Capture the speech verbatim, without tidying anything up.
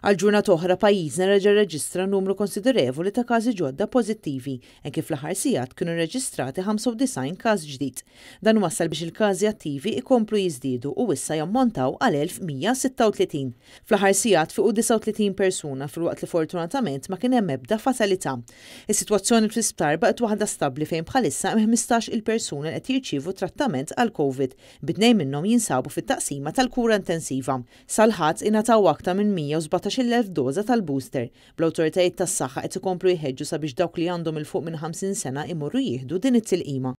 Għal ġurnata oħra pajjiżna reġa' rreġistra numru konsiderevoli ta' każi ġodda pożittivi hekk kif fl-aħħar sigħat kienu rreġistrati ħamsa u disgħin każ ġdid. Dan wassal biex il-każi attivi ikomplu jiżdiedu u issa jammontaw għal elf u mija u sitta u tletin. Fl-aħħar sigħat fiequ disgħa u tletin persuna, filwaqt li fortunatament ma kien hemm ebda fatalità. Is-sitwazzjoni fl-isptar baqgħet waħda stabbli, fejn bħalissa hemm ħmistax il persuna li qed jirċievu trattament għal Covid, bi tnejn minnhom jinsabu fit-taqsima tal-kura intensiva. Sal-Ħadd ingħataw aktar minn mija u sbatax-il elf doża tal-booster. Bl-awtoritajiet tas-saħħa qed ikomplu jħeġġu sabiex dawk li għandhom 'il fuq minn ħamsin sena imorru jieħdu din it-tilqima.